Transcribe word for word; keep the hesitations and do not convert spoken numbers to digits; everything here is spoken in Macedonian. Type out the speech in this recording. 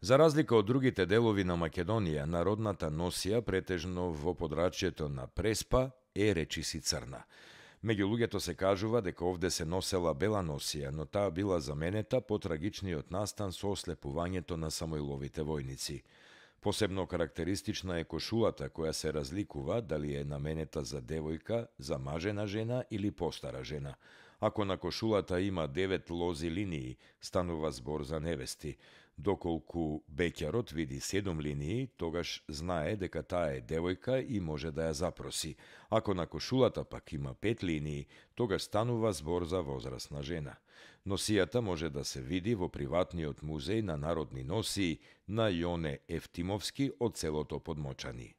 За разлика од другите делови на Македонија, народната носија претежно во подрачјето на Преспа е речиси црна. Меѓу луѓето се кажува дека овде се носела бела носија, но таа била заменета по трагичниот настан со ослепувањето на Самоиловите војници. Посебно карактеристична е кошулата која се разликува дали е наменета за девојка, за мажена жена или постара жена. Ако на кошулата има девет лози линии, станува збор за невести. Доколку беќарот види седум линии, тогаш знае дека таа е девојка и може да ја запроси. Ако на кошулата пак има пет линии, тогаш станува збор за возрасна жена. Носијата може да се види во приватниот музеј на народни носии на Јоне Ефтимовски од селото Подмочани.